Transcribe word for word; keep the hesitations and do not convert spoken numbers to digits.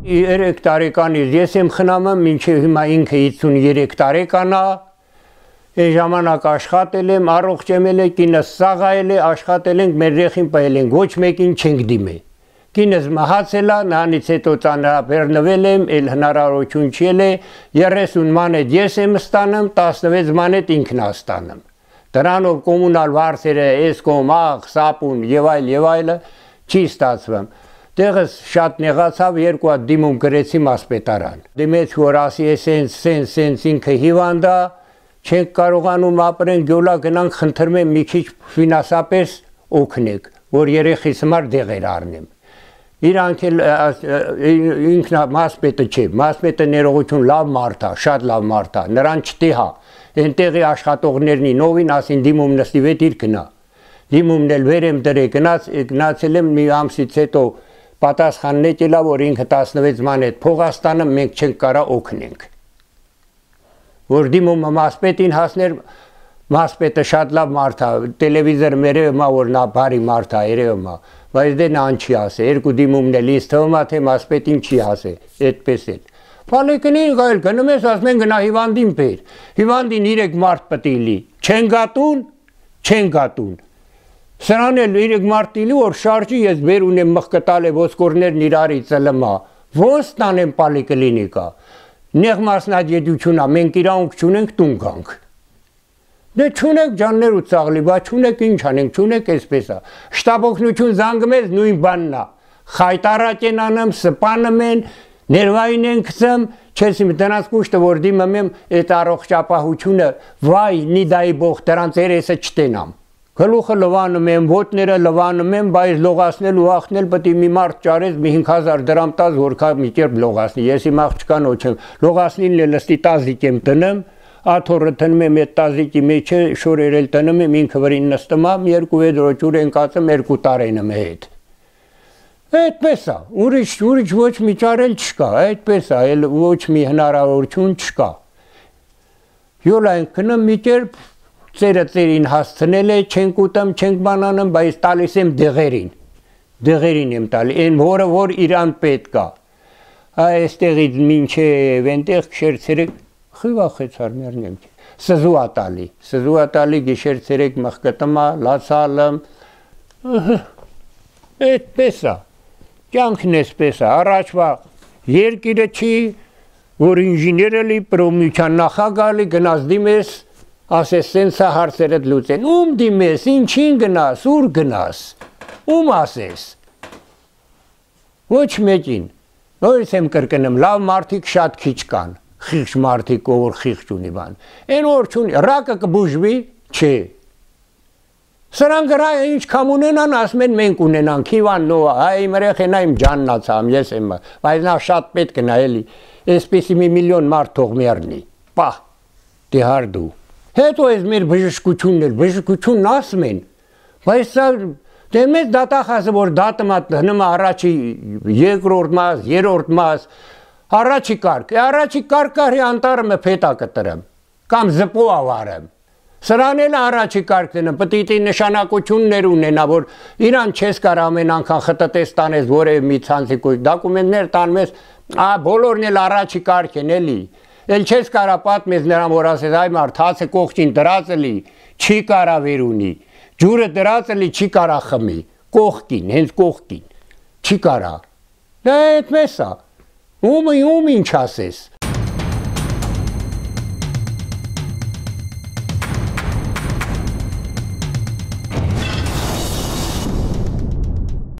երեք տարեկանից ես եմ խնամում, մինչև հիմա ինքը հիսուններեք տարեկան է, այս ժամանակ աշխատել եմ, առողջ եմ ել, կինս սաղայել է, աշխատել ենք, մեր երեխին պահել ենք, ոչ մեկին չենք դիմել։ Կինս մահացել է, նրանից հետո ծանրաբեռնվել եմ, էլ հնարավորություն չի ել է, երեսուն մանետ ես եմ ստանում, տասնվեց մանետ ինքն է ստանում։ Դրանով կոմունալ վարձերը, էսկոմ, աղ, սապուն եւ այլ եւ այլը չի ստացվում։ Տեղս շատ նեղացավ, երկու հատ դիմում գրեցի մասպետարան։ Դիմեց, որ ասի սենց, սենց, սենց ինքը հիվանդ է, չենք կարողանում ապրեն, գյոլա գնանք խնդրում եմ մի քիչ ֆինանսապես օգնեք, որ երեխիս համար դեղեր առնեմ։ Իրանք էլ ինքն մասպետը չէ, մասպետը ներողություն լավ մարդ է, շատ լավ մարդ է, նրան չտիհա, այնտեղի աշխատողներն նովին ասին դիմում նստի վետ իր գնա։ Դիմումն էլ վեր եմ դրե գնաց, գնացել եմ մի ամսից հետո պատասխանն եկել է, որ ինքը տասնվեց մանետ փողաստանը մենք չենք կարա օգնենք։ Որ դիմումը մասպետին հասներ, մասպետը շատ լավ մարդ է, տելևիզոր երևում է, որ նա բարի մարդ է, երևում է, բայց դե նա չի ասե, երկու դիմումն էլ ինձ թվում է, թե մասպետին չի ասե, այդպես էլ։ Փալեկնին գայլ գնում ես, ասում են գնա հիվանդին բեր, հիվանդին երեք մարդ պետք է լի, չեն գատուն, չեն գատուն։ Սրան էլ երեք մարդ տիլի, որ շարժի ես բեր ունեմ մխկտալ է ոսկորներն իրարի ծլմա, ոնց տանեմ պալիկլինիկա, նեղ մասնագիտություն է, մենք իրանք չունենք տուն գանք։ Դե չունեք ջաններ ու ծաղլի, բա չունեք ինչ անենք, չունեք այսպես է։ Շտապօգնություն զանգում ես նույն բանն է։ Խայտարակ են անում, սպանում են, ներվային են գցում, չես իմ դրանց կուշտը որ դիմում եմ այդ առողջապահությունը, վայ, նիդայի բող դրանց երեսը չտենամ։ Գլուխը լվանում եմ, ոտները լվանում եմ, բայց լողացնել ու ախնել պետք է մի մարդ ճարես մի հինգ հազար դրամ տաս, որքա մի կերպ լողացնի։ Ես իմ աղջկան ոչեմ, լողացնին էլ լստի տազիկ եմ տնեմ, աթոռը տնում եմ այդ տազիկի մեջը, շորերել տնում եմ, ինքը վրին նստում եմ, երկու վեդրո ջուր ենք ածում, երկու տարեն եմ հետ։ Այդպես է, ուրիշ ուրիշ ոչ մի ճարել չկա, այդպես է, էլ ոչ մի հնարավորություն չկա։ Յոլա ենք գնում մի կերպ ծերը ծերին հասցնել է, չենք ուտում, չենք բանանում, բայց տալիս եմ դեղերին, դեղերին եմ տալի, այն որը որ իրան պետք է։ Այստեղից մինչև այնտեղ քշեր ցերեկ խիվախեցար մերնեմ սզու ատալի, սզու ատալի գիշեր ցերեկ մխկտմա, լացալım, այդպես է, կյանքն էսպես է, առաջվա երկիրը չի, որ ինժեները լի, պրոմյության նախագալի, գնաց դիմես, ասես սենց է հարցերդ լուծեն, ում դիմես, ինչին գնաս, ուր գնաս, ում ասես, ոչ մեկին, նորից եմ կրկնում, լավ մարդիկ շատ քիչ կան, խիղճ մարդիկ, ով որ խիղճ ունի բան, այն որ չունի, ռակը կբուժվի, չէ, սրան գրա ինչ կամ ունենան, ասում են մենք ունենանք, հիվան նոա, այ մրեխենա իմ ջաննացամ, ես եմ, բայց նա շատ պետք նա էլի, այսպեսի մի միլիոն մարդ թող մերնի, պահ, դե հարդու, հետո ես մեր բժշկությունն էլ, բժշկությունն ասում են, բայց սա դե մեծ դատախազը, որ դատմա հնում առաջի երկրորդ մաս, երորդ մաս, առաջի կարգ, առաջի կարգ կարի անտարը պետա կտրեմ, կամ զպո ավարեմ, սրան էլ առաջի կարգ դնեմ, պտիտի նշանակություններ ունենա, որ իրան չես կար ամեն անգան խտտես տանես, որև մի ցանցի կույք, դակումենտներ տանում ես, բոլորն էլ առաջի կարգ են էլի, էլ չես կարա պատմես նրան, որ ասես այ մարդ հացը կողքին դրածը լի, չի կարա վեր ունի, ջուրը դրածը լի, չի կարա խմի, կողքին, հենց կողքին, չի կարա, դա այդպես է, ում ում ինչ ասես,